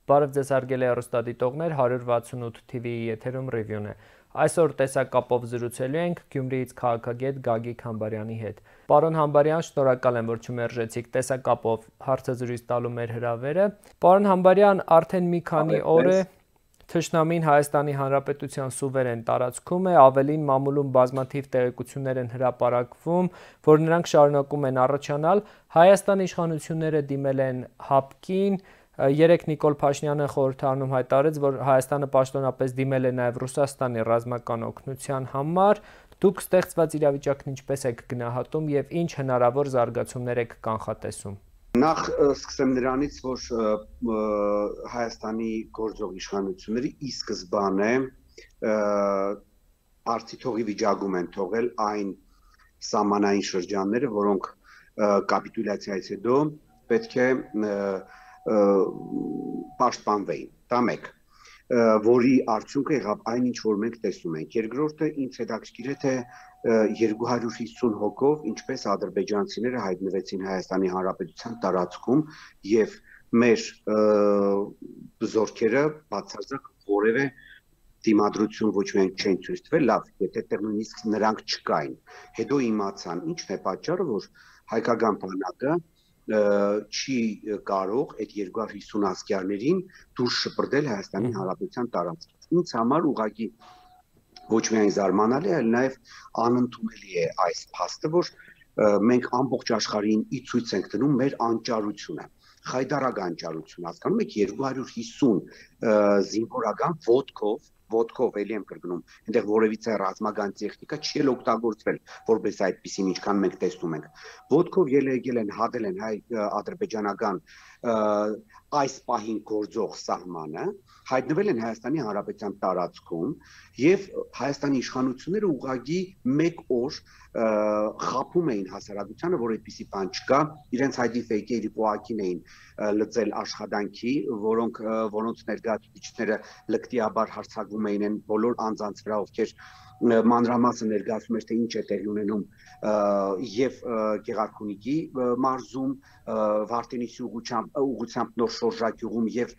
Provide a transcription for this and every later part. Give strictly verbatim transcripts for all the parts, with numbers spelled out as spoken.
Բարև ձեզ հարգելի հեռուստադիտողներ, հարյուր վաթսունութ թիվիի եթերում ռիվյուն է։ Այսօր տեսակապով զրուցելու ենք Գյումրիից քաղաքագետ Գագիկ Համբարյանի հետ։ Պարոն Համբարյան, շնորհակալ եմ, որ չմերժեցիք տեսակապով հարցազրույց տալու մեր հրավերը։ Պարոն Համբարյան, արդեն մի քանի օր է թշնամին Հայաստանի Հանրապետության սուվերեն տարածքում է, ավելին մամուլում բազմաթիվ տեղեկություններ են հրապարակվում, որ նրանք շարունակում են առաջանալ։ Հայաստանի իշխանությունները դիմել են ՀԱՊԿ-ին, երեկ Նիկոլ Փաշինյանը խորհրդարանում հայտարարեց, որ Հայաստանը պաշտոնապես դիմել է նաև Ռուսաստանի ռազմական օգնության համար։ Դուք ստեղծված իրավիճակն ինչպես եք գնահատում եւ ինչ հնարավոր զարգացումներ եք կանխատեսում։ Նախ սկսեմ նրանից, որ Հայաստանի գործող իշխանությունները ի սկզբանե արդիթողի վիճակում են թողել այն սահմանային շրջանները, որոնք կապիտուլյացիայից հետո պետք է պաշտպանվեին։ Դա մեկ, որի արդյունքը եղավ այն, ինչ որ մենք տեսնում ենք։ Երկրորդը ինձ հետաքրքիր է, թե երկու հարյուր հիսուն հոգով ինչպես ադրբեջանցիները հայտնվեցին Հայաստանի Հանրապետության տարածքում եւ մեր զորքերը բացարձակ որևէ դիմադրություն ոչ միայն չեն ցույց տվել, լավ, եթե դեռ նույնիսկ նրանք չկային։ Հետո իմացան, ինչն է պատճառը, որ հայկական բանակը չի կարող այդ երկու հարյուր հիսուն ասկերներին դուրս շպրտել Հայաստանի Հանրապետության տարածքից։ Ինձ համար ուղղակի ոչ միայն զարմանալի, այլ նաև անընդունելի է այս փաստը, որ մենք ամբողջ աշխարհին ի ցույց ենք դնում մեր անճարությունը, խայդարակ անճարություն, հասկանում եք, երկու հարյուր հիսուն զինվորական ոտքով ոտքով էլի եմ կրկնում, այնտեղ որևիցե ռազմական տեխնիկա չի էլ օգտագործվել, որպես այդպեսին ինչքան մենք տեսնում ենք։ Ոտքով ելել են, հատել են հայ ադրբեջանական այս պահին գործող սահմանը, հայտնվել են Հայաստանի Հանրապետության տարածքում եւ Հայաստանի իշխանությունները ուղղակի մեկ օր խափում էին հասարակությանը, որ այդպիսի բան չկա, իրենց հայդի ֆեյքերի պոակին էին լծել աշխատանքի, որոնք որոնց ներկայացուցիչները լկտիաբար հարձակվում էին են բոլոր անձանց վրա, ովքեր մանրամասը ներկայացում էր, թե ինչ է տեղի ունենում եւ Գեղարքունիքի մարզում, Վարդենիսի ուղղությամբ ուղղությամբ նոր շորժակյուղում եւ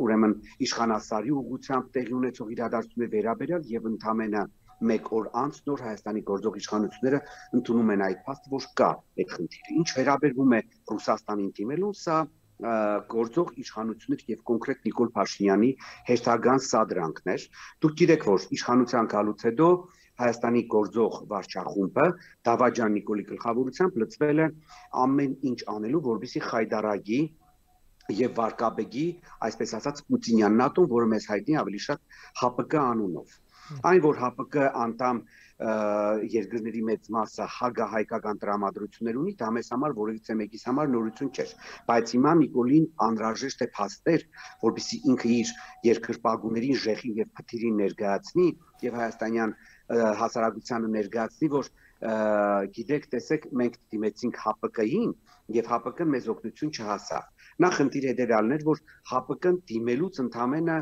ուրեմն Իշխանասարի ուղղությամբ տեղի ունեցող իրադարձությունների վերաբերյալ եւ ընդամենը մեկ օր անց նոր Հայաստանի գործող իշխանությունները ընդունում են այդ փաստը, որ կա այդ խնդիրը։ Ինչ վերաբերվում է Ռուսաստանին դիմելուն, սա գործող իշխանություններ եւ կոնկրետ Նիկոլ Փաշինյանի հերթական սադրանքներ։ Դուք գիտեք, որ իշխանության գալուց հետո Հայաստանի գործող վարչախումբը Դավաճան Նիկոլի գլխավորությամբ լծվել է ամեն ինչ անելու, որպեսզի խայդարագի եւ վարկաբեկի, այսպես ասած, Պուտինյան նատոն, որը մեզ հայտնի ավելի շատ ՀԱՊԿ անունով։ Այն, որ ՀԱՊԿ անդամ երկրների մեծ մասը հագահայկական տրամադրություններ ունի, դա մեզ համար որևիցե մեկիս համար նորություն չէր, բայց հիմա Նիկոլին անհրաժեշտ է փաստեր, որպեսզի ինքը իր երկրպագուներին ժեխին եւ փթիրին ներկայացնի եւ հայաստանյան հասարակությանը ներկայացնի, որ գիտեք, տեսեք, մենք դիմեցինք ՀԱՊԿ-ին եւ ՀԱՊԿ-ն մեզ օգնություն չհասավ։ Նա խնդիր հետեւյալն էր, որ ՀԱՊԿ-ն դիմելուց ընդամենը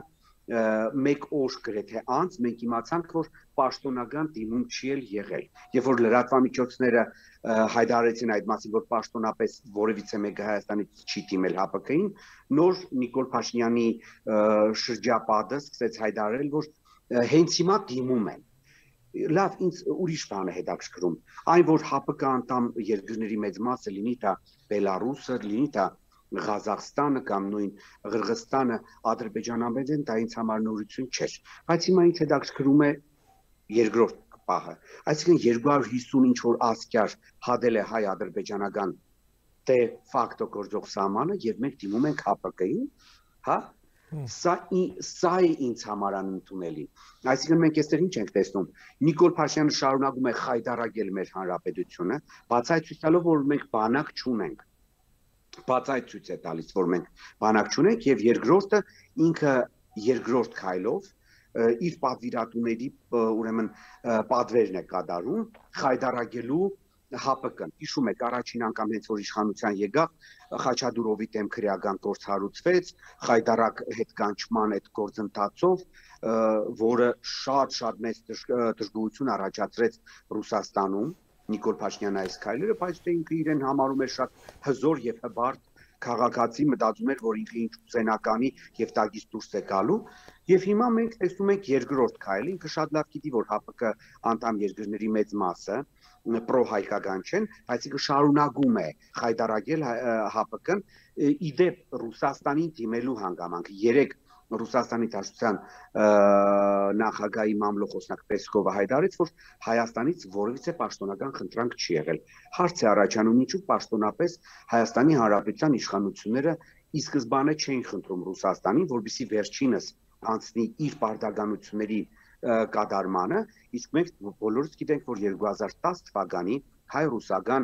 մեկ օր գրեթե անց մենք իմացանք, որ պաշտոնական դիմում չի էլ եղել։ Երբ որ լրատվամիջոցները հայտարարեցին այդ մասին, որ պաշտոնապես որևիցե մեկը Հայաստանից չի դիմել ՀԱՊԿ-ին, նոր Նիկոլ Փաշինյանի շրջապատը սկսեց հայտարարել, որ հենց հիմա դիմում են։ Լավ, ինձ ուրիշ բան է հետաքրքրում։ Այն, որ ՀԱՊԿ անդամ երկրների մեծ մասը լինի դա Բելարուսը, լինի դա Ղազախստանը կամ նույն Ղրղստանը Ադրբեջանաբեդ են, դա ինձ համար նորություն չէր, բայց հիմա ինձ հետաքրքրում է երկրորդ պահը, այսինքն երկու հարյուր հիսուն ինչ որ ասկյար հադել է հայ-ադրբեջանական դե ֆակտո գործող սահմանը եւ մենք դիմում ենք ՀԱՊԿ-ին, հա, սա սա է ինձ համար անընդունելի։ Այսինքն մենք այստեղ ինչ ենք տեսնում, Նիկոլ Փաշինյանը շարունակում է խայտարակել մեր հանրապետությունը, բացայցույց տալով, որ մենք բանակ չունենք, բացայցույց է տալիս, որ մենք բանակ չունենք եւ երկրորդը ինքը երկրորդ քայլով իր պատվիրատուների ուրեմն պատվերն է կատարում խայտարակելու ՀԱՊԿ-ն։ Հիշում եք, առաջին անգամ հենց որ իշխանության եկավ, Խաչատուրովի դեմ քրեական գործ հարուցվեց, խայտարակ հետկանչման այդ գործընթացով, որը շատ-շատ մեծ դժգոհություն առաջացրեց Ռուսաստանում, Նիկոլ Փաշինյանը այս քայլերը, բայց թե ինքը իրեն համարում է շատ հզոր եւ հբարտ քաղաքացի մտածում էր, որ ինքը ինչ ուզենականի եւ տագից դուրս է գալու, եւ հիմա մենք տեսնում ենք երկրորդ քայլը, ինքը շատ լավ գիտի, որ Հ Պ Կ անդամ երկրների մեծ մասը պրո-հայկական չեն, բայց ինքը շարունակում է խայտարակել Հ Պ Կ-ն իդեպ Ռուսաստանին դիմելու հանգամանք երեք Ռուսաստանի Դաշնության նախագահի մամլոխոսնակ Պեսկովը հայտարարեց, որ Հայաստանից որևիցե պաշտոնական խնդրանք չի եղել։ Հարց է առաջանում, ինչու պաշտոնապես Հայաստանի Հանրապետության իշխանությունները ի սկզբանե չէին խնդրում Ռուսաստանին, որպեսզի վերջինս անցնի իր պարտականությունների կատարմանը, իսկ մենք բոլորս գիտենք, որ երկու հազար տասը թվականի հայ-ռուսական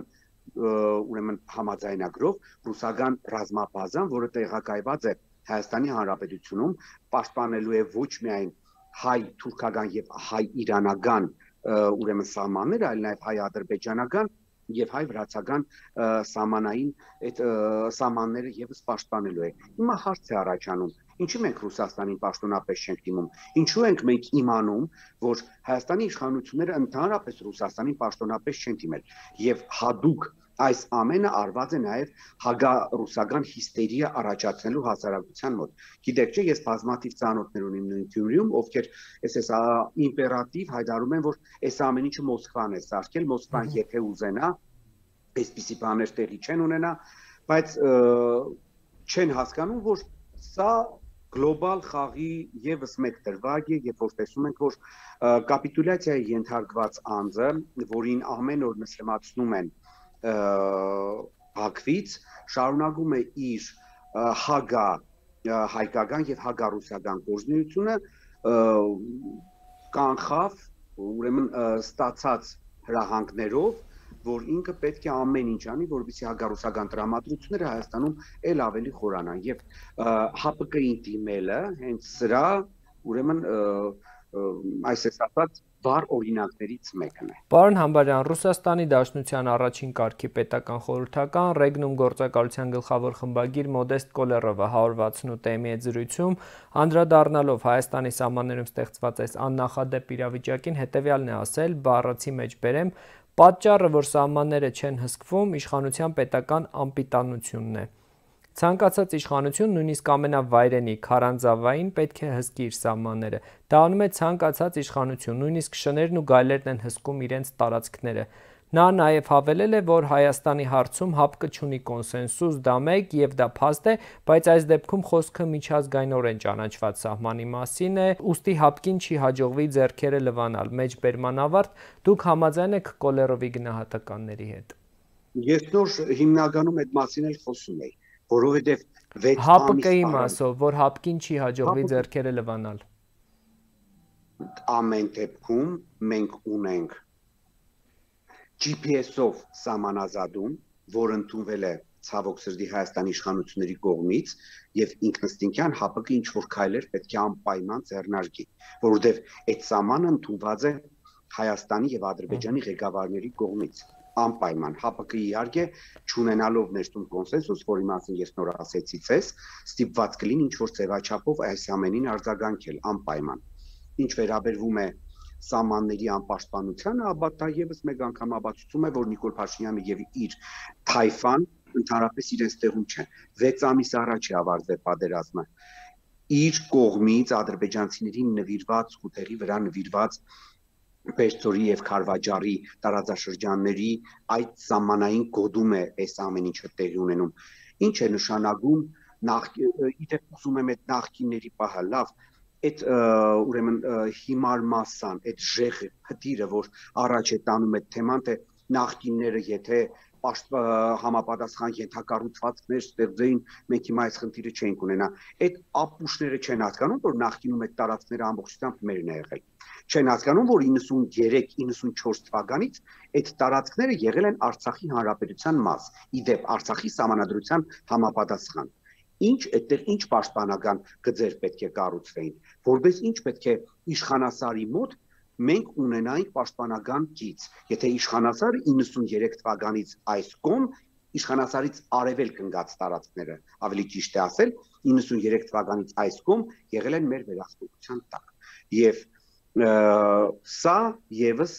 ուրեմն համաձայնագրով ռուսական ռազմաբազան, որը տեղակայված է Հայաստանի Հանրապետությունում, պաշտպանելու է ոչ միայն հայ-թուրքական եւ հայ-իրանական ուրեմն սահմանները, այլ նաեւ հայ-ադրբեջանական եւ հայ-վրացական սահմանային այդ սահմանները եւս պաշտպանելու է։ Հիմա հարց է առաջանում. ինչու մենք Ռուսաստանին պաշտոնապես չենք դիմում։ Ինչու ենք մենք իմանում, որ Հայաստանի իշխանությունները ընդհանրապես Ռուսաստանին պաշտոնապես չեն դիմել եւ հadoop այս ամենը արված է նաեւ հագա-ռուսական հիստերիա առաջացնելու հասարակության մոտ։ Գիտեք չէ, ես բազմաթիվ ծանոթներ ունեմ նույն Գյումրիում, ովքեր այսպես իմպերատիվ հայտարարում են, որ այս ամեն ինչը Մոսկվան է սարքել, Մոսկվան եթե ուզենա, այսպիսի բաներ տեղի չեն ունենա, բայց չեն հասկանում, որ սա գլոբալ խաղի եւս մեկ դրվագ է, երբ որ տեսնում ենք, որ կապիտուլյացիայի ենթարկված անձը, որին ամեն օր նշմացնում են Բաքվից, շարունակում է իր հագա հայկական եւ հագա-ռուսական գործունեությունը, կանխավ, ուրեմն ստացած հրահանգներով, որ ինքը պետք է ամեն ինչ անի, որպեսզի հագա-ռուսական տրամադրությունները Հայաստանում ել ավելի խորանան եւ Հ Պ Կ-ին դիմելը հենց սրա ուրեմն այս ասած վառ օրինակներից մեկն է։ Պարոն Համբարյան, Ռուսաստանի Դաշնության առաջին կարգի պետական խորհրդական Ռեգնում գործակալության գլխավոր խմբագիր Մոդեստ Կոլերովը հարյուր վաթսունութ-ի հետ զրույցում անդրադառնալով Հայաստանի սահմաններում ստեղծված այս աննախադեպ իրավիճակին հետևյալն է ասել, բառացի մեջ բերեմ, պատճառը, որ սահմանները չեն հսկվում, իշխանության պետական անպիտանությունն է։ Ցանկացած իշխանություն, նույնիսկ ամենավայրենի քարանձավային պետք է հսկի իր սահմանները։ Դա անում է ցանկացած իշխանություն, նույնիսկ շներն ու գայլերն են հսկում իրենց տարածքները։ Նա նաև հավելել է, որ Հայաստանի հարցում Հ Պ Կ չունի կոնսենսուս, դա մեկ եւ դա փաստ է, բայց այս դեպքում խոսքը միջազգայինորեն ճանաչված սահմանի մասին է, ուստի Հ Պ Կ-ին չի հաջողվի ձեռքերը լվանալ։ Մեջբերման ավարտ, դուք համաձայն եք Կոլերովի գնահատականների հետ։ Ես նոր հիմնականում այդ մասին էլ խոսում էի, որովհետեւ վեց Հ Պ Կ-ի մասով, որ Հ Պ Կ-ին չի հաջողվի ձեռքերը լվանալ։ Ամեն դեպքում մենք ունենք G P S-ով սահմանազատում, որ ընդունվել է ցավոք սրտի Հայաստանի իշխանությունների կողմից եւ ինքնըստինքյան Հ Պ Կ-ի ինչ որ քայլեր պետք է անպայման ձեռնարկի, որովհետեւ այդ սահմանը ընդունված է Հայաստանի եւ Ադրբեջանի ղեկավարների կողմից անպայման Հ Պ Կ-ի իհարկե չունենալով ներսում կոնսենսուս, որի մասին ես նոր ասեցի ցես, ստիպված կլինի ինչ որ ձևաչափով այս ամենին արձագանքել անպայման։ Ինչ վերաբերվում է սահմանների անպաշտպանությանը, ապա դա եւս մեկ անգամ ապացուցում է, որ Նիկոլ Փաշինյանը եւ իր թայֆան ընդհանրապես իրենց տեղում չեն։ վեց ամիս առաջ է ավարտվել պատերազմը։ Իր կողմից ադրբեջանցիներին նվիրված ու տեղի վրա նվիրված Պերճորի եւ Քարվաճարի տարածաշրջանների այդ սահմանային գոդում է այս ամեն ինչը տեղի ունենում։ Ինչ է նշանակում նախ իդեպ ուզում եմ այդ նախկինների պահը լավ այդ ուրեմն հիմար մասան, այդ ժեղը, հդիրը, որ առաջ է տանում այդ թեման, թե նախկինները եթե համապատասխան ենթակառուցվածքներ ստեղծեին, մենք հիմա այս խնդիրը չենք ունենա։ Այդ ապուշները չեն հասկանում, որ նախկինում այդ տարածքները ամբողջությամբ մերն է եղել։ Չեն հասկանում, որ իննսունյերեք իննսունչորս թվականից այդ տարածքները եղել են Արցախի հանրապետության մաս, իդեպ Արցախի սահմանադրության համապատասխան։ Ինչ այդտեղ ինչ պաշտպանական գծեր պետք է կառուցվեին, որպես ինչ պետք է իշխանասարի մոտ մենք ունենայինք պաշտպանական գիծ։ Եթե իշխանասարը իննսունյերեք թվականից այս կողմ իշխանասարից արևելք ընկած տարածքները, ավելի ճիշտ է ասել, իննսունյերեք թվականից այս կողմ եղել են մեր վերահսկողության տակ։ Եվ սա եւս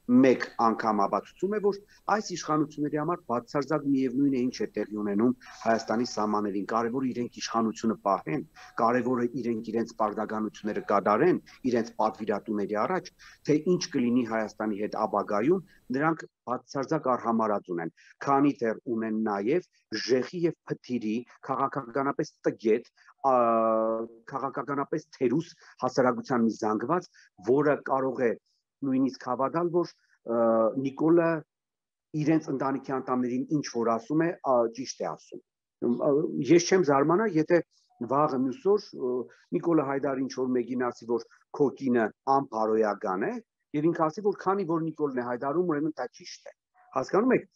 մեկ անգամ ապացուցում է, որ այս իշխանությունների համար բացարձակ միևնույն է ինչ է տեղի ունենում Հայաստանի սահմաններին, կարևորը իրենք իշխանությունը պահեն, կարևորը իրենք իրենց պարտականությունները կատարեն, իրենց պատվիրատուների առաջ, թե ինչ կլինի Հայաստանի հետ ապագայում, նրանք բացարձակ արհամարած ունեն, քանի դեռ ունեն նաև ժեխի եւ փթիրի քաղաքականապես տգետ, քաղաքականապես թերուս հասարակության մի զանգված, որը կարող է նույնիսկ հավատալ, որ Նիկոլը իրենց ընտանիքի անդամներին ինչ որ ասում է, ճիշտ է ասում։ Ես չեմ զարմանա, եթե վաղը մյուս օր Նիկոլը Հայդարը ինչ որ մեկին ասի, որ քո կինը անփարոյական է, եւ ինքը ասի, որ քանի որ Նիկոլն է հայտարարում, ուրեմն դա ճիշտ է։ Հասկանում եք,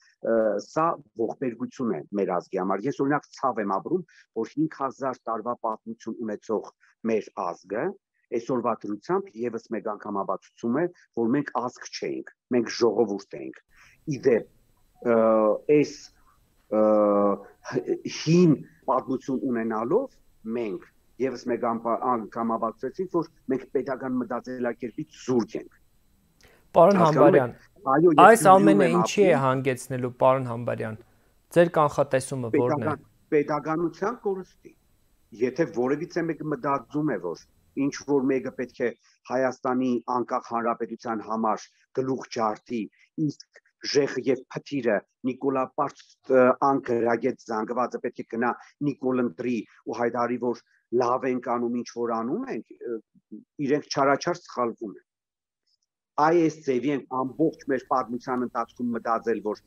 սա ողբերգություն է մեր ազգի համար։ Ես օրինակ ցավ եմ ապրում, որ հինգ հազար տարվա պատմություն ունեցող մեր ազգը այսօրվա դրությամբ եւս մեկ անգամ ապացուցում է, որ մենք ազգ չէինք, մենք ժողովուրդ էինք։ Իդեպ, այս հին պատմություն ունենալով մենք եւս մեկ անգամ ապացուցեցինք, որ մենք պետական մտածելակերպից զուրկ ենք։ Պարոն Համբարյան, այս ամենը ինչի է հանգեցնելու, պարոն Համբարյան, ձեր կանխատեսումը որն է։ Պետականության կորստի։ Եթե որևիցե մեկը մտածում է, որ ինչ որ մեկը պետք է Հայաստանի անկախ հանրապետության համար գլուխ ջարդի, իսկ ժեխը եւ փթիրը Նիկոլապարտ անկրագետ զանգվածը պետք է գնա Նիկոլ ընտրի ու հայտարարի, որ լավ ենք անում, ինչ որ անում ենք, իրենք չարաչար սխալվում են։ Այս ձևի են ամբողջ մեր պատմության ընթացքում մտածել, որ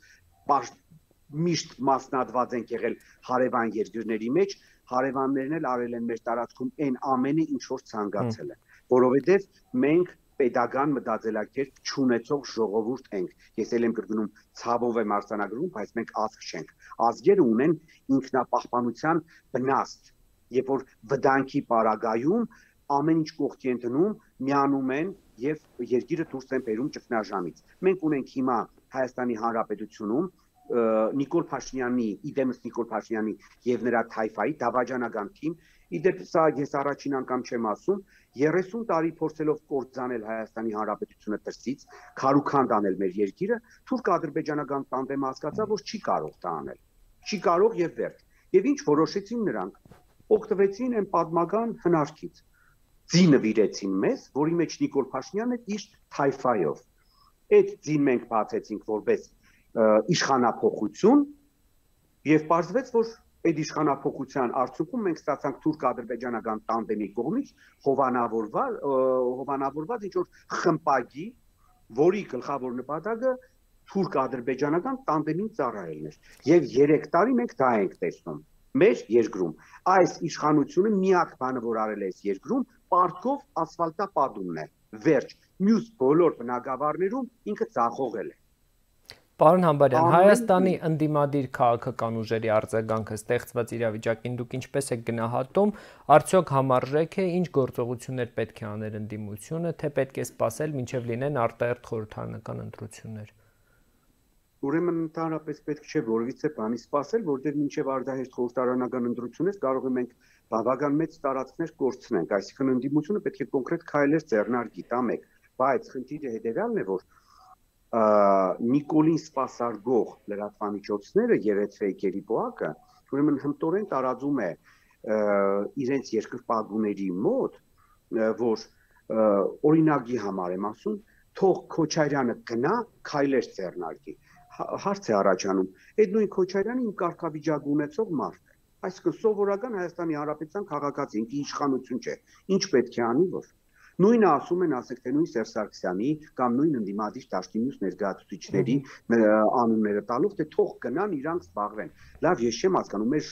միշտ մասնատված ենք եղել հարևան երկրների մեջ, հարևաններն էլ արել են մեր տարածքում այն ամենը, ինչ որ ցանկացել են, որովհետև մենք պետական մտածելակերպ չունեցող ժողովուրդ ենք։ Ես էլ եմ կրկնում, ցավով եմ արձանագրում, բայց մենք ազգ չենք։ Ազգերը ունեն ինքնապահպանության վնաստ, երբ որ վտանգի պարագայում ամեն ինչ կողքի են դնում, միանում են եւ երկիրը դուրս են բերում ճգնաժամից։ Մենք ունենք հիմա Հայաստանի Հանրապետությունում Նիկոլ Փաշինյանի, իդեմս Նիկոլ Փաշինյանի եւ նրա թայֆայի դավաճանական թիմ, իդեպ սա ես առաջին անգամ չեմ ասում, երեսուն տարի փորձելով կործանել Հայաստանի Հանրապետությունը դրսից, քարուքանդ անել մեր երկիրը, թուրք-ադրբեջանական տանդեմը հասկացա, որ չի կարող դա անել։ Չի կարող եւ վերջ։ Եվ ինչ որոշեցին նրանք, օգտվեցին այն պատմական հնարքից։ Ձի նվիրեցին մեզ, որի մեջ Նիկոլ Փաշինյանը իր թայֆայով։ Այդ ձին մենք բացեցինք որպես իշխանափոխություն եւ պարզվեց, որ այդ իշխանափոխության արդյունքում մենք ստացանք թուրք-ադրբեջանական տանդեմի կողմից հովանավորված հովանավորված ինչ որ խմպագի, որի գլխավոր նպատակը թուրք-ադրբեջանական տանդեմին ծառայելն էր։ Եվ երեք տարի մենք դա ենք տեսնում մեր երկրում։ Այս իշխանությունը միակ բանը, որ արել է այս երկրում, պարտքով ասֆալտապատումն է։ Վերջ, մյուս բոլոր բնակավարներում ինքը ծախողել է։ Պարոն Համբարյան, Հայաստանի ընդդիմադիր քաղաքական ուժերի արձագանքը ստեղծված իրավիճակին դուք ինչպես եք գնահատում, արդյոք համարժեք է, ինչ գործողություններ պետք է աներ ընդդիմությունը, թե պետք է սպասել, մինչև լինեն արտահերթ խորհրդարանական ընտրություններ։ Ուրեմն ընդհանրապես պետք չէ որևիցե բանի սպասել, որտեղ մինչև արտահերթ խորհրդարանական ընտրություններ կարող ենք բավական մեծ տարածքներ կորցնենք, այսինքն ընդդիմությունը պետք է կոնկրետ քայլեր ձեռնարկի, դա մեկ, բայց խնդիրը հետևյալն է, որ Նիկոլին սպասարկող լրատվամիջոցները երեթվեյքերի պոակը ուրեմն հմտորեն տարածում է իրենց երկրպագուների մոտ, որ օրինակի համար եմ ասում, թող Քոչարյանը գնա քայլեր ձեռնարկի։ Հարց է առաջանում, այդ նույն Քոչարյանը իմ կարգավիճակ ունեցող մարդ է, այսինքն սովորական Հայաստանի Հանրապետության քաղաքացի, ինքը իշխանություն չէ, ինչ պետք է անի, որ նույնը ասում են, ասեք թե նույն Սերժ Սարգսյանի կամ նույն ընդդիմադիր դաշտի մյուս ներկայացուցիչների անունները տալով, թե թող գնան իրանք զբաղվեն։ Լավ, ես չեմ հասկանում, մեր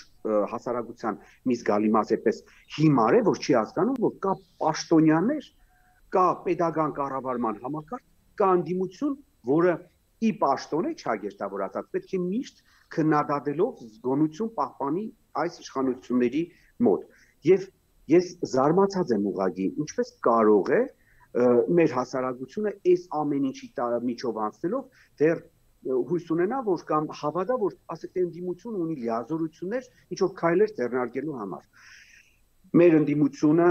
հասարակության մի զգալի մաս էպես հիմար է, որ չի հասկանում, որ կա պաշտոնյաներ, կա պետական կառավարման համակարգ, կա ընդդիմություն, որը ի պաշտոն է չագերտավորած, պետք է միշտ քննադատելով զգոնություն պահպանի այս իշխանությունների մոտ։ Եվ ես զարմացած եմ ուղղակի, ինչպես կարող է մեր հասարակությունը այս ամեն ինչի միջով անցնելով դեռ հույս ունենա, որ կամ հավատա, որ ասեք թե ընդդիմությունը ունի լիազորություններ ինչ որ քայլեր ձեռնարկելու համար։ Մեր ընդդիմությունը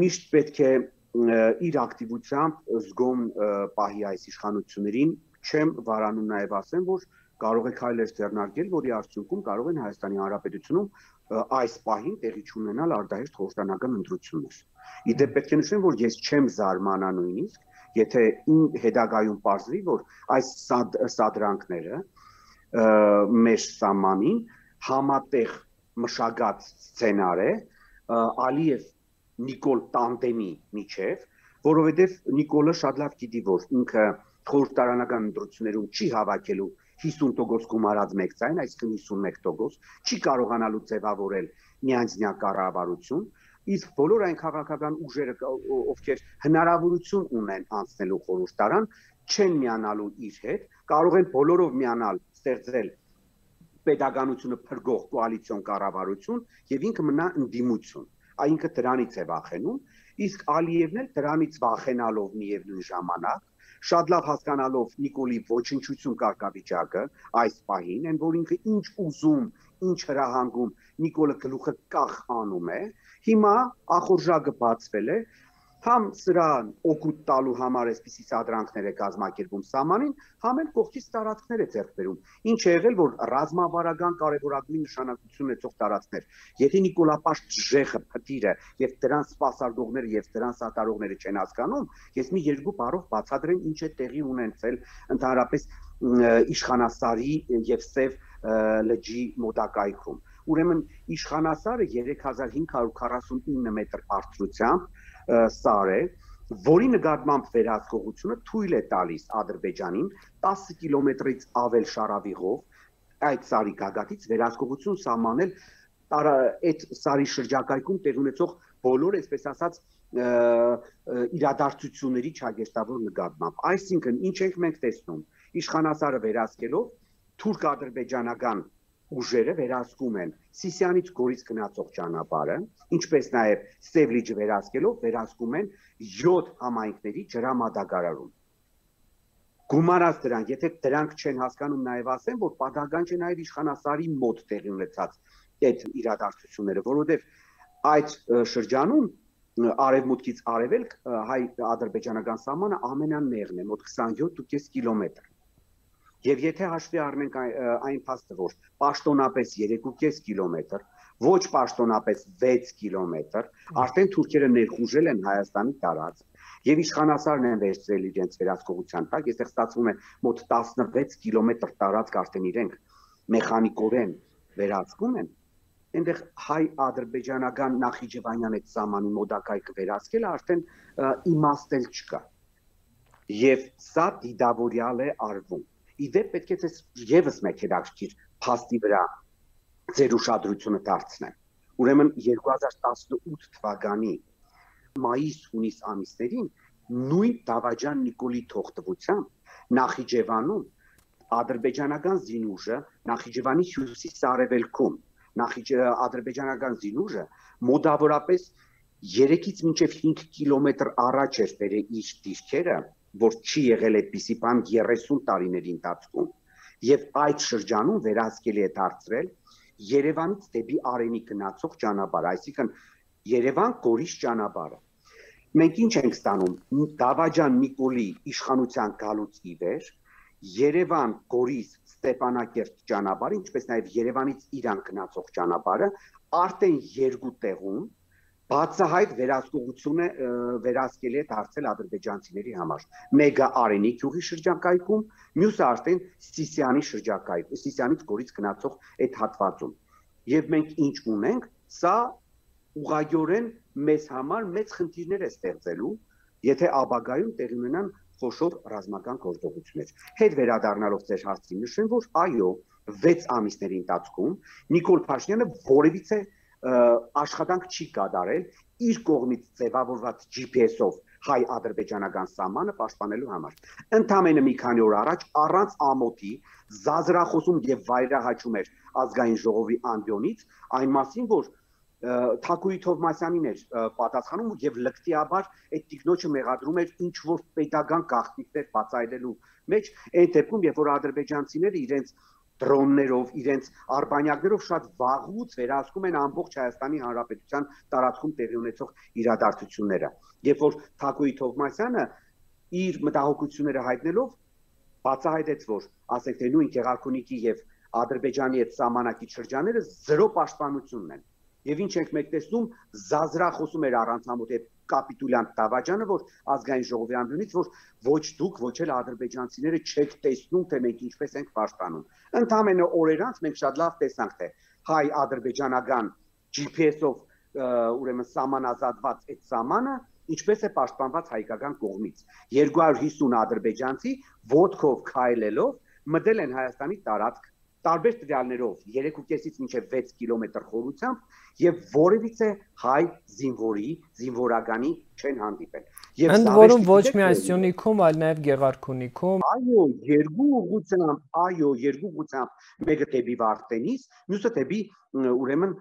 միշտ պետք է իր ակտիվությամբ զգոմ պահի այս իշխանություններին, չեմ վարանում նաև ասեմ, որ կարող է քայլեր ձեռնարկել, որի արդյունքում կարող են Հայաստանի Հանրապետությունում այս պահին տեղի չունենալ արդահերթ խորհրդանական ընտրություններ։ Իդեպ պետք է նշեմ, որ ես չեմ զարմանա նույնիսկ, եթե հետագայում պարզվի, որ այս սադրանքները մեր սահմանին համատեղ մշակած սցենար է Ալիև Նիկոլ տանդեմի միջև, որովհետև Նիկոլը շատ լավ գիտի, որ ինքը խորհրդարանական ընտրություններում չի հավաքելու հիսուն տոկոս գումարած մեկ ձայն, այսինքն հիսունմեկ տոկոս, չի կարողանալու ձևավորել միանձնյա կառավարություն, իսկ բոլոր այն քաղաքական ուժերը, ովքեր հնարավորություն ունեն անցնելու խորհրդարան, չեն միանալու իր հետ, կարող են բոլորով միանալ, ստեղծել պետականությունը փրկող կոալիցիոն կառավարություն եւ ինքը մնա ընդդիմություն։ Այնինքը դրանից է վախենում, իսկ Ալիևն էլ դրանից վախենալով միևնույն ժամանակ շատ լավ հասկանալով Նիկոլի ոչնչություն կարգավիճակը այս պահին, այն որ ինքը ինչ ուզում, ինչ հրահանգում Նիկոլը գլուխը կախ անում է, հիմա ախորժակը բացվել է, համ սրան օգուտ տալու համար այսպիսի սադրանքներ է կազմակերպում սահմանին, համ էլ կողքից տարածքներ է ձեռք բերում։ Ինչ է եղել, որ ռազմավարական կարևորագույն նշանակություն ունեցող տարածքներ, եթե Նիկոլապաշտ Ժեխը, Փտիրը եւ դրան սպասարկողները եւ դրան սատարողները չեն հասկանում, ես մի երկու բառով բացատրեմ ինչ է տեղի ունեցել ընդհանրապես Իշխանասարի եւ Սև լճի մոտակայքում։ Ուրեմն Իշխանասարը երեք հազար հինգ հարյուր քառասունինը մետր բարձրությամբ սար է, որի նկատմամբ վերահսկողությունը թույլ է տալիս Ադրբեջանին տասը կիլոմետրից ավել շարավիղով այդ սարի գագաթից վերահսկողություն սահմանել այդ սարի շրջակայքում տեղ ունեցող բոլոր, այսպես ասած, իրադարձությունների չագեստավոր նկատմամբ։ Այսինքն, ինչ ենք մենք տեսնում, Իշխանասարը վերահսկելով թուրք-ադրբեջանական ուժերը վերահսկում են Սիսիանից Գորիս գնացող ճանապարհը, ինչպես նաև Սև լիճը վերահսկելով վերահսկում են յոթ համայնքների ջրամատակարարում։ Գումարած դրանք, եթե դրանք չեն հասկանում, նաև ասեմ, որ պատահական չէ նաև Իշխանասարի մոտ տեղի ունեցած այդ իրադարձությունները, որովհետև այդ շրջանում արևմուտքից արևելք հայ-ադրբեջանական սահմանը ամենանեղն է, մոտ քսանյոթ ու կես կիլոմետր։ Եվ եթե հաշվի առնենք այն փաստը, որ պաշտոնապես երեք ու կես կիլոմետր, ոչ պաշտոնապես վեց կիլոմետր, արդեն թուրքերը ներխուժել են Հայաստանի տարածք, եւ Իշխանասարն են վերցրել իրենց վերահսկողության տակ, այստեղ ստացվում է մոտ տասնվեց կիլոմետր տարածք արդեն իրենք մեխանիկորեն վերահսկում են, այնտեղ հայ-ադրբեջանական Նախիջևանյան այդ սահմանի մոտակայքը վերահսկելը արդեն իմաստել չկա։ Եվ սա դիտավորյալ է արվում։ Իդեպ պետք է եւս մեկ հետաքրքիր փաստի վրա ձեր ուշադրությունը դարձնեմ։ Ուրեմն երկու հազար տասնութ թվականի մայիս-հունիս ամիսներին նույն Դավաճան Նիկոլի թողտվությամբ Նախիջևանում ադրբեջանական զինուժը Նախիջևանի հյուսիս-արևելքում ադրբեջանական զինուժը մոտավորապես երեքից մինչև հինգ կիլոմետր առաջ էր բերել իր դիրքերը, որ չի եղել այդպիսի բան երեսուն տարիների ընթացքում, եւ այդ շրջանում վերահսկելի է դարձրել Երևանից դեպի Արենի գնացող ճանապարհը, այսինքն Երևան-Գորիս ճանապարհը։ Մենք ինչ ենք ստանում Դավաճան Նիկոլի իշխանության գալուց ի վեր Երևան-Գորիս Ստեփանակերտ ճանապարհը, ինչպես նաև Երևանից Իրան գնացող ճանապարհը արդեն երկու տեղում բացահայտ վերահսկողությունը վերահսկելի է դարձել ադրբեջանցիների համար։ Մեկը Արենի գյուղի շրջակայքում, մյուսը արդեն Սիսիանի շրջակայքում, Սիսիանից Գորիս գնացող այդ հատվածում։ Եվ մենք ինչ ունենք, սա ուղղակիորեն մեզ համար մեծ խնդիրներ է ստեղծելու, եթե ապագայում տեղի ունենան խոշոր ռազմական գործողություններ։ Հետ վերադառնալով ձեր հարցին նշեմ, որ այո, վեց ամիսների ընթացքում Նիկոլ Փաշինյանը որևիցե աշխատանք չի կատարել իր կողմից ձևավորված Ջի Փի Էսով հայ-ադրբեջանական սահմանը պաշտպանելու համար։ Ընդամենը մի քանի օր առաջ առանց ամոթի զազրախոսում եւ վայրահաչում էր ազգային ժողովի անդյոնից այն մասին, որ Թակուի Թովմասյանին էր պատասխանում եւ լկտիաբար այդ տիկնոջը մեղադրում էր ինչ որ պետական գաղտնիքներ բացայլելու մեջ, այն դեպքում, երբ որ ադրբեջանցիները իրենց դրոններով, իրենց արբանյակներով շատ վաղուց վերահսկում են ամբողջ Հայաստանի Հանրապետության տարածքում տեղի ունեցող իրադարձությունները։ Երբ որ Թակոյի Թովմասյանը իր մտահոգությունները հայտնելով բացահայտեց, որ ասենք թե նույն Գեղարքունիքի եւ Ադրբեջանի հետ սահմանակիչ շրջանները զրո պաշտպանությունն են։ Եվ ինչ ենք մենք տեսնում, զազրախոսում էր առանց ամոթ այդ կապիտուլյանտ Դավաճանը, որ ազգային ժողովի ամբիոնից, որ ոչ դուք, ոչ էլ ադրբեջանցիները չեք տեսնում, թե մենք ինչպես ենք պաշտպանում։ Ընդամենը օրեր անց մենք շատ լավ տեսանք, թե հայ-ադրբեջանական G P S-ով ուրեմն սահմանազատված այդ սահմանը ինչպես է պաշտպանված հայկական կողմից։ երկու հարյուր հիսուն ադրբեջանցի ոտքով քայլելով մտել են Հայաստանի տարածք տարբեր տվյալներով երեք ու կեսից մինչև վեց կիլոմետր խորությամբ եւ որևիցե հայ զինվորի, զինվորականի չեն հանդիպել։ Ընդ որում ոչ միայն Սյունիքում, այլ նաեւ Գեղարքունիքում։ Այո, երկու ուղղությամբ, այո, երկու ուղղությամբ, մեկը դեպի Վարդենիս, մյուսը դեպի ուրեմն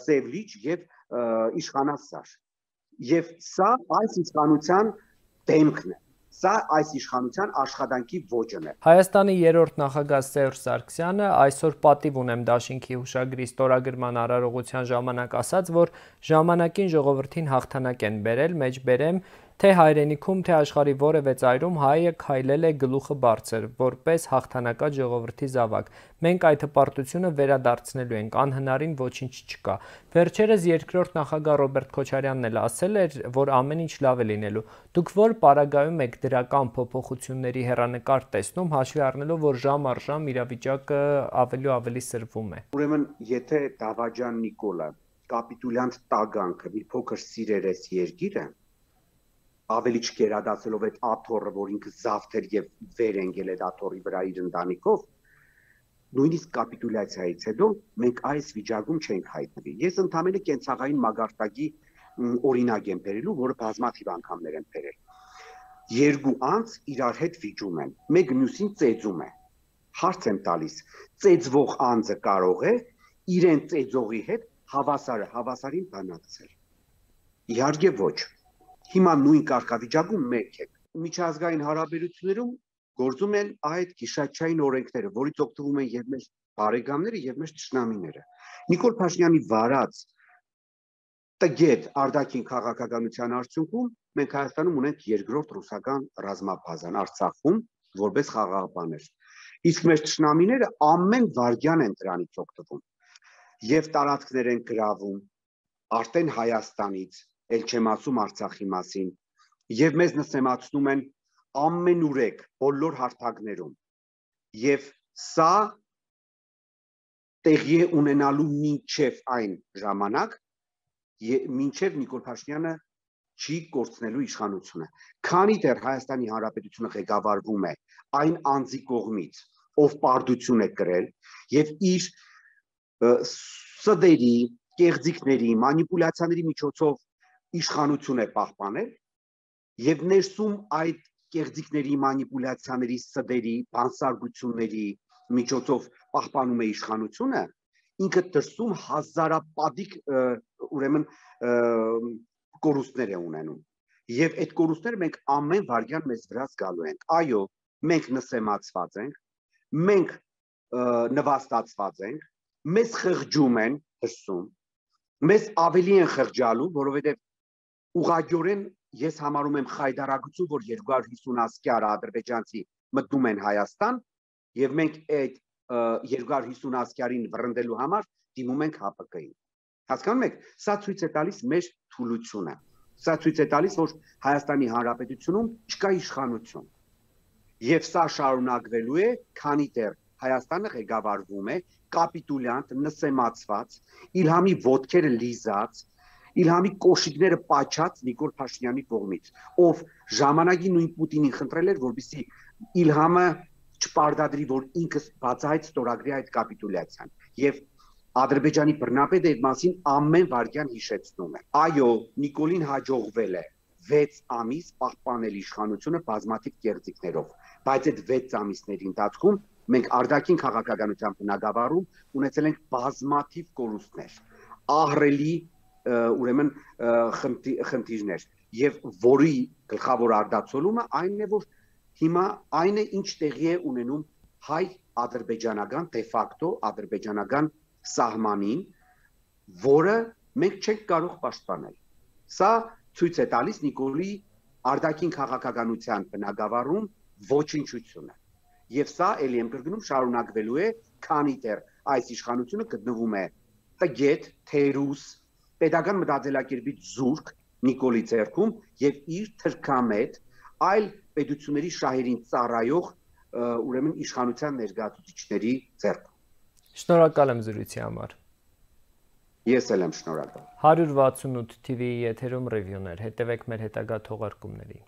Սևլիչ եւ Իշխանասար։ Եվ սա այս իշխանության դեմքն է, սա այս իշխանության աշխատանքի ոճն է։ Հայաստանի երրորդ նախագահ Սերժ Սարգսյանը այսօր պատիվ ունեմ դաշինքի հուշագրի ստորագրման արարողության ժամանակ ասաց, որ ժամանակին ժողովրդին հաղթանակ են բերել, մեջբերեմ, թե հայրենիքում, թե աշխարհի որևէ ծայրում հայը քայլել է գլուխը բարձր, որպես հաղթանակած ժողովրդի զավակ։ Մենք այդ հպարտությունը վերադարձնելու ենք, անհնարին ոչինչ չկա։ Վերջերս երկրորդ նախագահ Ռոբերտ Քոչարյանն էլ ասել էր, որ ամեն ինչ լավ է լինելու։ Դուք որ պարագայում եք դրական փոփոխությունների հեռանկար տեսնում, հաշվի առնելով, որ ժամ առ ժամ իրավիճակը ավելի ու ավելի սրվում է։ Ուրեմն, եթե Դավաճան Նիկոլը կապիտուլյանտ տագանքը մի փոքր սիրեր էս երկիրը, ավելի չկերադասելով այդ աթոռը, որ ինքը զավթեր եւ վեր ընկել այդ աթոռի վրա իր ընտանիքով, նույնիսկ կապիտուլյացիայից հետո մենք այս վիճակում չենք հայտնվի։ Ես ընդհանրապես կենցաղային մագարտակի օրինակ եմ բերելու, որը բազմաթիվ անգամներ եմ բերել։ Երկու անձ իրար հետ վիճում են, մեկ մյուսին ծեծում է։ Հարց եմ տալիս, ծեծվող անձը կարող է իրեն ծեծողի հետ հավասարը հավասարին բանակցել։ Իհարկե ոչ։ Հիմա նույն կարգավիճակում մենք ենք։ Միջազգային հարաբերություններում գործում են այդ գիշատչային օրենքները, որից օգտվում են եւ մեր բարեկամները եւ մեր ճշնամիները։ Նիկոլ Փաշինյանի վարած տգետ արտաքին քաղաքականության արդյունքում մենք Հայաստանում ունենք երկրորդ ռուսական ռազմաբազան Արցախում որպես խաղաղապաներ։ Իսկ մեր ճշնամիները ամեն վայրկյան են դրանից օգտվում եւ տարածքներ են գրավում արդեն Հայաստանից, ել չեմ ասում Արցախի մասին, եւ մեզ նսեմացնում են ամենուրեք բոլոր հարթակներում։ Եվ սա տեղի է ունենալու մինչև այն ժամանակ, մինչև Նիկոլ Փաշինյանը չի կորցնելու իշխանությունը։ Քանի դեռ Հայաստանի Հանրապետությունը ղեկավարվում է այն անձի կողմից, ով պարտություն է կրել եւ իր սդերի, կեղծիքների, մանիպուլյացիաների միջոցով իշխանություն է պահպանել եւ ներսում այդ կեղծիքների, մանիպուլյացիաների, սդերի, բանսարգությունների միջոցով պահպանում է իշխանությունը, ինքը դրսում հազարապատիկ ուրեմն կորուստներ է ունենում։ Եվ այդ կորուստները մենք ամեն վայրկյան մեզ վրա զգալու ենք։ Այո, մենք նսեմացված ենք, մենք նվաստացված ենք, մեզ խղճում են դրսում, մեզ ավելի են խղճալու, որովհետև ուղղակիորեն ես համարում եմ խայդարագություն, որ երկու հարյուր հիսուն ասկյար ադրբեջանցի մտնում են Հայաստան, եւ մենք այդ երկու հարյուր հիսուն ասկյարին վռնդելու համար դիմում ենք H P K-ին։ Հասկանում եք, սա ցույց է տալիս մեր թուլությունը։ Սա ցույց է տալիս, որ Հայաստանի Հանրապետությունում չկա իշխանություն։ Եվ սա շարունակվելու է, քանի դեռ Հայաստանը ղեկավարվում է կապիտուլյանտ, նսեմացված, Իլհամի ոտքերը լիզած, Իլհամի կոշիկները պաչած Նիկոլ Փաշինյանի կողմից, ով ժամանակի նույն Պուտինին խնդրել էր, որպեսզի Իլհամը չպարտադրի, որ ինքը բացահայտ ստորագրի այդ կապիտուլյացիան։ Եվ Ադրբեջանի բռնապետը այդ մասին ամեն վայրկյան հիշեցնում է։ Այո, Նիկոլին հաջողվել է վեց ամիս պահպանել իշխանությունը բազմաթիվ կեղծիքներով, բայց այդ վեց ամիսների ընթացքում մենք արտաքին քաղաքականության բնագավառում ունեցել ենք բազմաթիվ կորուստներ, ահռելի ուրեմն խնդիրներ, եւ որի գլխավոր արդացոլումը այն է, որ հիմա այն է, ինչ տեղի է ունենում հայ ադրբեջանական դե ֆակտո ադրբեջանական սահմանին, որը մենք չենք կարող պաշտպանել։ Սա ցույց է տալիս Նիկոլի արտաքին քաղաքականության բնագավառում ոչնչությունը։ Եվ սա ելի եմ կրկնում շարունակվելու է, քանի դեռ այս իշխանությունը գտնվում է տգետ, թերուս, պետական մտածելակերպից զուրկ Նիկոլի ձեռքում եւ իր թրքամետ այլ պետությունների շահերին ծառայող ուրեմն իշխանության ներկայացուցիչների ձեռքում։ Շնորհակալ եմ զրույցի համար։ Ես էլ եմ շնորհակալ։ հարյուր վաթսունութ թիվիի եթերում ռևյուներ, հետևեք մեր հետագա թողարկումներին։